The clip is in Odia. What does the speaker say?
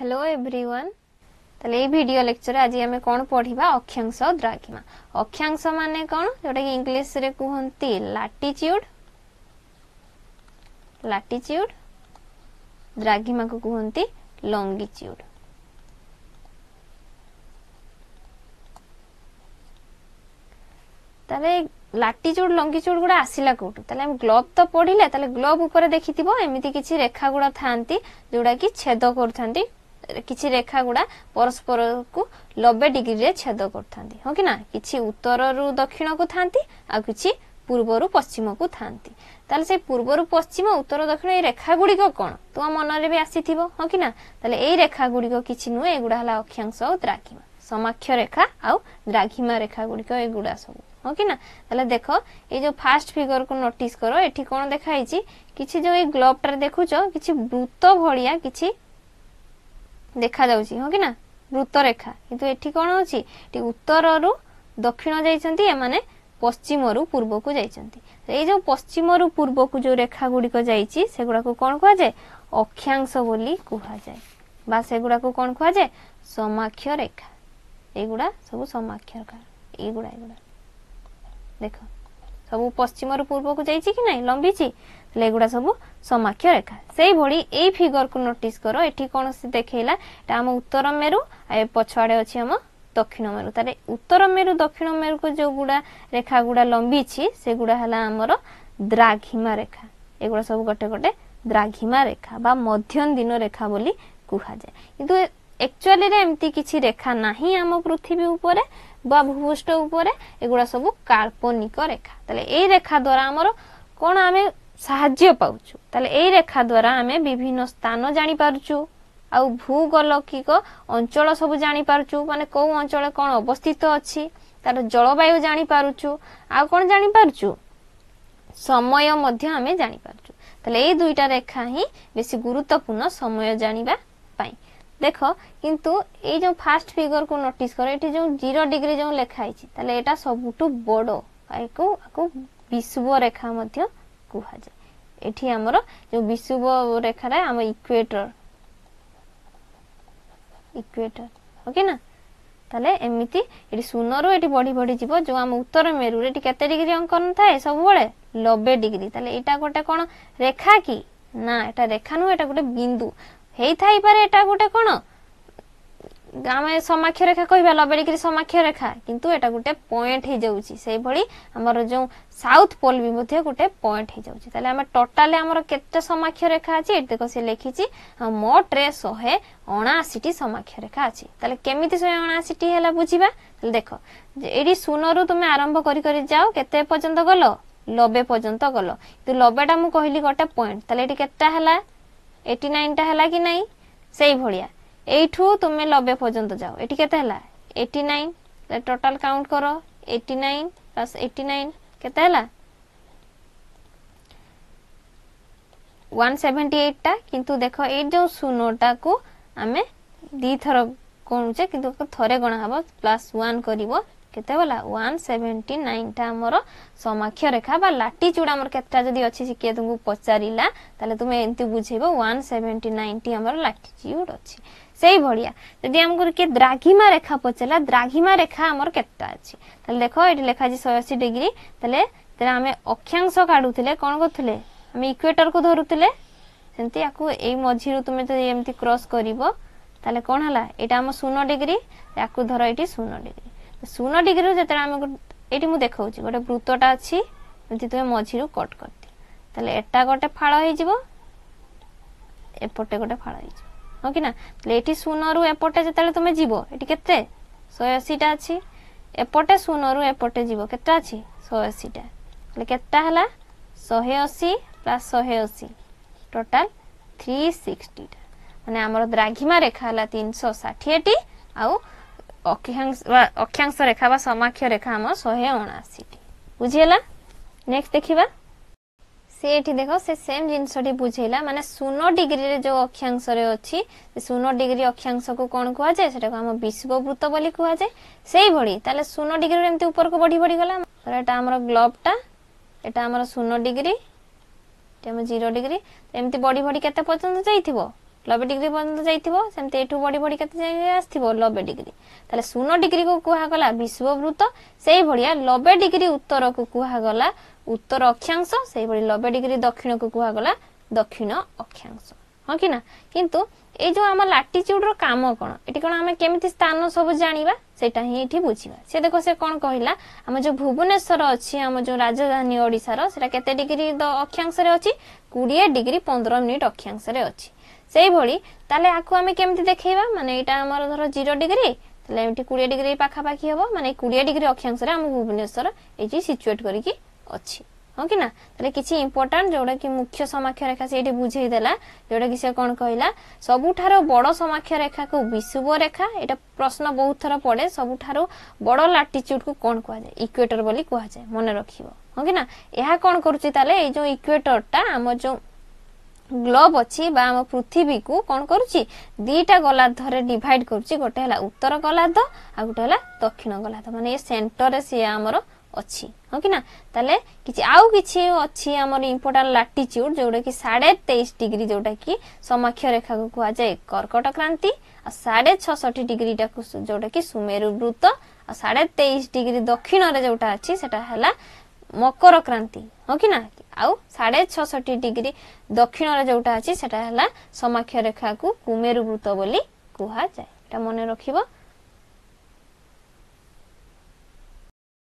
Hello everyone. ତାହେଲେ ଏଇ ଭିଡ଼ିଓ ଲେକ୍ଚରରେ ଆଜି ଆମେ କ'ଣ ପଢ଼ିବା? ଅକ୍ଷାଂଶ, ଦ୍ରାଘିମା। ଅକ୍ଷାଂଶ ମାନେ କ'ଣ? ଯୋଉଟାକି ଇଂଲିଶରେ କୁହନ୍ତି ଲାଟିଚ୍ୟୁଡ୍, ଲାଟିଚ୍ୟୁଡ୍। ଦ୍ରାଘିମାକୁ କୁହନ୍ତି ଲଙ୍ଗିଚ୍ୟୁଡ୍। ତାହେଲେ ଲାଟିଚ୍ୟୁଡ୍ ଲଙ୍ଗିଚ୍ୟୁଡ୍ ଗୁଡ଼ା ଆସିଲା କୋଉଠୁ? ତାହେଲେ ଆମେ ଗ୍ଲୋବ୍ ତ ପଢିଲେ, ତାହେଲେ ଗ୍ଲୋବ୍ ଉପରେ ଦେଖିଥିବ ଏମିତି କିଛି ରେଖା ଗୁଡ଼ା ଥାନ୍ତି ଯୋଉଟା କି ଛେଦ କରୁଥାନ୍ତି। କିଛି ରେଖା ଗୁଡ଼ା ପରସ୍ପରକୁ 90 ଡିଗ୍ରୀରେ ଛେଦ କରୁଥାନ୍ତି, ହଁ କି ନା? କିଛି ଉତ୍ତରରୁ ଦକ୍ଷିଣକୁ ଥାନ୍ତି ଆଉ କିଛି ପୂର୍ବରୁ ପଶ୍ଚିମକୁ ଥାନ୍ତି। ତାହେଲେ ସେଇ ପୂର୍ବରୁ ପଶ୍ଚିମ, ଉତ୍ତର ଦକ୍ଷିଣ ଏଇ ରେଖା ଗୁଡ଼ିକ କ'ଣ ତୁମ ମନରେ ବି ଆସିଥିବ, ହଁ କି ନା? ତାହେଲେ ଏଇ ରେଖା ଗୁଡ଼ିକ କିଛି ନୁହେଁ, ଏଗୁଡ଼ା ହେଲା ଅକ୍ଷାଂଶ ଆଉ ଦ୍ରାଘିମା, ସମାକ୍ଷ ରେଖା ଆଉ ଦ୍ରାଘିମା ରେଖା ଗୁଡ଼ିକ ଏଗୁଡ଼ା ସବୁ, ହଁ କି ନା? ତାହେଲେ ଦେଖ, ଏଇ ଯୋଉ ଫାର୍ଷ୍ଟ ଫିଗରକୁ ନୋଟିସ କର, ଏଠି କ'ଣ ଦେଖା ହେଇଛି? କିଛି ଯୋଉ ଏଇ ଗ୍ଲୋବଟାରେ ଦେଖୁଛ, କିଛି ବୃତ୍ତ ଭଳିଆ କିଛି ଦେଖାଯାଉଛି, ହଁ କି ନା? ବୃତ୍ତ ରେଖା। କିନ୍ତୁ ଏଠି କ'ଣ ଅଛି? ଏଠି ଉତ୍ତରରୁ ଦକ୍ଷିଣ ଯାଇଛନ୍ତି, ଏମାନେ ପଶ୍ଚିମରୁ ପୂର୍ବକୁ ଯାଇଛନ୍ତି। ଏଇ ଯୋଉ ପଶ୍ଚିମରୁ ପୂର୍ବକୁ ଯୋଉ ରେଖା ଗୁଡ଼ିକ ଯାଇଛି, ସେଗୁଡାକୁ କ'ଣ କୁହାଯାଏ? ଅକ୍ଷାଂଶ ବୋଲି କୁହାଯାଏ, ବା ସେଗୁଡାକୁ କ'ଣ କୁହାଯାଏ? ସମାକ୍ଷ ରେଖା। ଏଇଗୁଡ଼ା ସବୁ ସମାକ୍ଷ ରେଖା। ଏଇଗୁଡ଼ା ଦେଖ, ସବୁ ପଶ୍ଚିମରୁ ପୂର୍ବକୁ ଯାଇଛି କି ନାଇଁ, ଲମ୍ବିଛି? ତାହେଲେ ଏଗୁଡ଼ା ସବୁ ସମାକ୍ଷ ରେଖା। ସେଇଭଳି ଏଇ ଫିଗରକୁ ନୋଟିସ କର, ଏଠି କ'ଣ ଦେଖେଇଲା? ଏଟା ଆମ ଉତ୍ତର ମେରୁ ଆଉ ଏ ପଛଆଡ଼େ ଅଛି ଆମ ଦକ୍ଷିଣ ମେରୁ। ତାହେଲେ ଉତ୍ତର ମେରୁ ଦକ୍ଷିଣ ମେରୁକୁ ଯୋଉଗୁଡ଼ା ରେଖା ଗୁଡ଼ା ଲମ୍ବିଛି, ସେଗୁଡ଼ା ହେଲା ଆମର ଦ୍ରାଘିମା ରେଖା। ଏଗୁଡ଼ା ସବୁ ଗୋଟେ ଗୋଟେ ଦ୍ରାଘିମା ରେଖା ବା ମଧ୍ୟନ୍ଦିନ ରେଖା ବୋଲି କୁହାଯାଏ। କିନ୍ତୁ ଆକ୍ଚୁଆଲିରେ ଏମିତି କିଛି ରେଖା ନାହିଁ ଆମ ପୃଥିବୀ ଉପରେ ବା ଭୂପୃଷ୍ଠ ଉପରେ, ଏଗୁଡ଼ା ସବୁ କାଳ୍ପନିକ ରେଖା। ତାହେଲେ ଏଇ ରେଖା ଦ୍ୱାରା ଆମର କ'ଣ ଆମେ ସାହାଯ୍ୟ ପାଉଛୁ? ତାହେଲେ ଏଇ ରେଖା ଦ୍ୱାରା ଆମେ ବିଭିନ୍ନ ସ୍ଥାନ ଜାଣିପାରୁଛୁ ଆଉ ଭୂଗୋଲକିକ ଅଞ୍ଚଳ ସବୁ ଜାଣିପାରୁଛୁ, ମାନେ କୋଉ ଅଞ୍ଚଳ କ'ଣ ଅବସ୍ଥିତ ଅଛି, ତାର ଜଳବାୟୁ ଜାଣିପାରୁଛୁ, ଆଉ କ'ଣ ଜାଣିପାରୁଛୁ? ସମୟ ମଧ୍ୟ ଆମେ ଜାଣିପାରୁଛୁ। ତାହେଲେ ଏଇ ଦୁଇଟା ରେଖା ହିଁ ବେଶୀ ଗୁରୁତ୍ୱପୂର୍ଣ୍ଣ ସମୟ ଜାଣିବା ପାଇଁ। ଦେଖ, କିନ୍ତୁ ଏଇ ଯୋଉ ଫାର୍ଷ୍ଟ ଫିଗରକୁ ନୋଟିସ କର, ଏଠି ଯୋଉ 0 ଡିଗ୍ରୀ ଯୋଉ ଲେଖା ହେଇଛି, ତାହେଲେ ଏଇଟା ସବୁଠୁ ବଡ, ଆକୁ ବିଷୁବ ରେଖା ମଧ୍ୟ କୁହାଯାଏ। ଏଠି ଆମର ଯୋଉ ବିଷୁବ ରେଖାଟା ଆମ ଇକୁଏଟର, ଇକୁଏଟର, ଓକେ ନା? ତାହେଲେ ଏମିତି ଏଠି ଶୂନରୁ ଏଠି ବଢି ବଢି ଯିବ। ଯୋଉ ଆମ ଉତ୍ତର ମେରୁରେ ଏଠି କେତେ ଡିଗ୍ରୀ ଅଙ୍କନ ଥାଏ ସବୁବେଳେ? 90 ଡିଗ୍ରୀ। ତାହେଲେ ଏଇଟା ଗୋଟେ କ'ଣ ରେଖା କି ନା? ଏଟା ରେଖା ନୁହେଁ, ଏଟା ଗୋଟେ ବିନ୍ଦୁ ହେଇଥାଇପାରେ। ଏଟା ଗୋଟେ କ'ଣ ଆମେ ସମାକ୍ଷ ରେଖା କହିବା, 90 ଡିଗ୍ରୀ ସମାକ୍ଷ ରେଖା, କିନ୍ତୁ ଏଟା ଗୋଟେ ପଏଣ୍ଟ ହେଇଯାଉଛି। ସେଇଭଳି ଆମର ଯୋଉ ସାଉଥ ପୋଲ ବି ମଧ୍ୟ ଗୋଟେ ପଏଣ୍ଟ ହେଇଯାଉଛି। ତାହେଲେ ଆମେ ଟୋଟାଲି ଆମର କେତେ ସମାକ୍ଷ ରେଖା ଅଛି? ଏଠି ଦେଖ, ସେ ଲେଖିଛି ମୋଟରେ 179ଟି ସମାକ୍ଷ ରେଖା ଅଛି। ତାହେଲେ କେମିତି 179ଟି ହେଲା ବୁଝିବା। ତାହେଲେ ଦେଖ, ଏଇଠି ଶୂନରୁ ତୁମେ ଆରମ୍ଭ କରି କରି ଯାଅ, କେତେ ପର୍ଯ୍ୟନ୍ତ ଗଲ? 90 ପର୍ଯ୍ୟନ୍ତ ଗଲ। କିନ୍ତୁ 90ଟା ମୁଁ କହିଲି ଗୋଟେ ପଏଣ୍ଟ, ତାହେଲେ ଏଠି କେତେଟା ହେଲା? 89ଟା ହେଲା କି ନାହିଁ? ସେଇଭଳିଆ ଏଇଠୁ ତୁମେ 90 ପର୍ଯ୍ୟନ୍ତ ଯାଅ, ଏଠି କେତେ ହେଲା? 89। ଟୋଟାଲ କାଉଣ୍ଟ କର, 89 ପ୍ଲସ୍ 89 କେତେ ହେଲା? 178ଟା। କିନ୍ତୁ ଦେଖ, ଏଇ ଯୋଉ ଶୂନଟାକୁ ଆମେ ଦିଥର ଗଣୁଛେ, କିନ୍ତୁ ଥରେ ଗଣା ହବ, ପ୍ଲସ୍ 1 କରିବ, କେତେ ଗଲା? 179ଟା ଆମର ସମାକ୍ଷ ରେଖା ବା ଲାଟିଚ୍ୟୁଡ୍ ଆମର କେତେଟା ଯଦି ଅଛି, କିଏ ତୁମକୁ ପଚାରିଲା, ତାହେଲେ ତୁମେ ଏମିତି ବୁଝେଇବ, 179ଟି ଆମର ଲାଟିଚ୍ୟୁଡ୍ ଅଛି। ସେଇଭଳିଆ ଯଦି ଆମକୁ କିଏ ଦ୍ରାଘିମା ରେଖା ପଚାରିଲା, ଦ୍ରାଘିମା ରେଖା ଆମର କେତେଟା ଅଛି? ତାହେଲେ ଦେଖ, ଏଠି ଲେଖା ଅଛି 180 ଡିଗ୍ରୀ। ତାହେଲେ ଯେତେବେଳେ ଆମେ ଅକ୍ଷାଂଶ କାଢୁଥିଲେ କ'ଣ କରୁଥିଲେ? ଆମେ ଇକୁଏଟରକୁ ଧରୁଥିଲେ। ସେମିତି ୟାକୁ ଏଇ ମଝିରୁ ତୁମେ ଯଦି ଏମିତି କ୍ରସ୍ କରିବ, ତାହେଲେ କ'ଣ ହେଲା? ଏଇଟା ଆମ 0 ଡିଗ୍ରୀ, ୟାକୁ ଧର ଏଇଠି 0 ଡିଗ୍ରୀ। 0 ଡିଗ୍ରୀରୁ ଯେତେବେଳେ ଆମେ ଏଇଠି ମୁଁ ଦେଖାଉଛି ଗୋଟେ ବୃତ୍ତଟା ଅଛି, ଏମିତି ତୁମେ ମଝିରୁ କଟ୍ କରିଦିଅ, ତାହେଲେ ଏଟା ଗୋଟେ ଫାଳ ହେଇଯିବ, ଏପଟେ ଗୋଟେ ଫାଳ ହେଇଯିବ, ହଁ କି ନା? ତାହେଲେ ଏଠି ଶୂନରୁ ଏପଟେ ଯେତେବେଳେ ତୁମେ ଯିବ, ଏଠି କେତେ? 180ଟା ଅଛି। ଏପଟେ ଶୂନରୁ ଏପଟେ ଯିବ, କେତେ ଅଛି? 180ଟା। ତାହେଲେ କେତେଟା ହେଲା? 180 ପ୍ଲସ୍ 180, ଟୋଟାଲ 360ଟା। ମାନେ ଆମର ଦ୍ରାଘିମା ରେଖା ହେଲା 360ଟି ଆଉ ଅକ୍ଷାଂଶ ରେଖା ବା ସମାକ୍ଷ ରେଖା ଆମର 179ଟି। ବୁଝିହେଲା? ନେକ୍ସଟ ଦେଖିବା। ସେ ଏଠି ଦେଖ, ସେ ସେମ୍ ଜିନିଷଟି ବୁଝେଇଲା, ମାନେ 0 ଡିଗ୍ରୀରେ ଯୋଉ ଅକ୍ଷାଂଶରେ ଅଛି, ସେ 0 ଡିଗ୍ରୀ ଅକ୍ଷାଂଶକୁ କ'ଣ କୁହାଯାଏ? ସେଟାକୁ ଆମ ବିଷୁବ ବୃତ୍ତ ବୋଲି କୁହାଯାଏ। ସେଇଭଳି ତାହେଲେ 0 ଡିଗ୍ରୀରୁ ଏମିତି ଉପରକୁ ବଢି ବଢି ଗଲା। ଏଟା ଆମର ଗ୍ଲୋବଟା, ଏଟା ଆମର 0 ଡିଗ୍ରୀ, ଏଠି ଆମ 0 ଡିଗ୍ରୀ, ଏମିତି ବଢି ବଢି କେତେ ପର୍ଯ୍ୟନ୍ତ ଯାଇଥିବ? 90 ଡିଗ୍ରୀ ପର୍ଯ୍ୟନ୍ତ ଯାଇଥିବ। ସେମିତି ଏଠୁ ବଢି ବଢି କେତେ ଯାଏ ଆସିଥିବ? 90 ଡିଗ୍ରୀ। ତାହେଲେ 0 ଡିଗ୍ରୀକୁ କୁହାଗଲା ବିଷୁବବୃତ୍ତ, ସେଇଭଳିଆ 90 ଡିଗ୍ରୀ ଉତ୍ତରକୁ କୁହାଗଲା ଉତ୍ତର ଅକ୍ଷାଂଶ, ସେଇଭଳି 90 ଡିଗ୍ରୀ ଦକ୍ଷିଣକୁ କୁହାଗଲା ଦକ୍ଷିଣ ଅକ୍ଷାଂଶ। ହଁ କି ନା? କିନ୍ତୁ ଏଇ ଯୋଉ ଆମ ଲାଟିଚ୍ୟୁଡ ର କାମ କଣ, ଏଠି କଣ ଆମେ କେମିତି ସ୍ଥାନ ସବୁ ଜାଣିବା, ସେଇଟା ହିଁ ଏଠି ବୁଝିବା। ସେ ଦେଖ, ସେ କଣ କହିଲା? ଆମ ଯୋଉ ଭୁବନେଶ୍ୱର ଅଛି, ଆମ ଯୋଉ ରାଜଧାନୀ ଓଡିଶାର, ସେଟା କେତେ ଡିଗ୍ରୀ ଅକ୍ଷାଂଶରେ ଅଛି? 20 ଡିଗ୍ରୀ 15 ମିନିଟ ଅକ୍ଷାଂଶରେ ଅଛି। ସେଇଭଳି ତାହେଲେ ଆକୁ ଆମେ କେମିତି ଦେଖେଇବା? ମାନେ ଏଇଟା ଆମର ଧର 0 ଡିଗ୍ରୀ, ତାହେଲେ ଏଠି 20 ଡିଗ୍ରୀ ପାଖାପାଖି ହବ। ମାନେ 20 ଡିଗ୍ରୀ ଅକ୍ଷାଂଶରେ ଆମ ଭୁବନେଶ୍ୱର ଏଇଠି ସିଚୁଏଟ କରିକି ଅଛି। ହଁ କି ନା? ତାହେଲେ କିଛି ଇମ୍ପୋର୍ଟାଣ୍ଟ ଯୋଉଟା କି ମୁଖ୍ୟ ସମାକ୍ଷ ରେଖା ସେଇଠି ବୁଝେଇ ଦେଲା, ଯୋଉଟା କି ସେ କଣ କହିଲା? ସବୁଠାରୁ ବଡ ସମାକ୍ଷ ରେଖାକୁ ବିଷୁବ ରେଖା। ଏଇଟା ପ୍ରଶ୍ନ ବହୁତ ଥର ପଡେ, ସବୁଠାରୁ ବଡ ଲାଟିଚ୍ୟୁଡ କୁ କଣ କୁହାଯାଏ? ଇକ୍ୱେଟର ବୋଲି କୁହାଯାଏ, ମନେ ରଖିବ। ହଁ କି ନା? ଏହା କଣ କରୁଛି ତାହେଲେ? ଏଇ ଯୋଉ ଇକ୍ୱେଟରଟା ଆମ ଯୋଉ ଗ୍ଲୋବ ଅଛି ବା ଆମ ପୃଥିବୀକୁ କଣ କରୁଛି? ଦିଟା ଗୋଲାର୍ଦ୍ଧରେ ଡିଭାଇଡ କରୁଛି। ଗୋଟେ ହେଲା ଉତ୍ତର ଗୋଲାର୍ଦ୍ଧ ଆଉ ଗୋଟେ ହେଲା ଦକ୍ଷିଣ ଗୋଲାର୍ଦ୍ଧ, ମାନେ ଏ ସେଣ୍ଟରରେ ସିଏ ଆମର ଅଛି। ହଁ କି ନା? ତାହେଲେ କିଛି ଆଉ କିଛି ଅଛି ଆମର ଇମ୍ପୋର୍ଟାଣ୍ଟ ଲାଟିଚ୍ୟୁଡ, ଯୋଉଟା କି 23.5 ଡିଗ୍ରୀ, ଯୋଉଟା କି ସମାକ୍ଷ ରେଖାକୁ କୁହାଯାଏ କର୍କଟ କ୍ରାନ୍ତି, ଆଉ 66.5 ଡିଗ୍ରୀଟାକୁ ଯୋଉଟା କି ସୁମେରୁ ବୃତ୍ତ, ଆଉ 23.5 ଡିଗ୍ରୀ ଦକ୍ଷିଣରେ ଯୋଉଟା ଅଛି ସେଟା ହେଲା ମକର କ୍ରାନ୍ତି। ହଁ କି ନା? ଆଉ 66.5 ଡିଗ୍ରୀ ଦକ୍ଷିଣରେ ଯୋଉଟା ଅଛି ସେଟା ହେଲା ସମାକ୍ଷ ରେଖାକୁ କୁମେରୁ ବୃତ୍ତ ବୋଲି କୁହାଯାଏ। ଏଟା ମନେ ରଖିବ।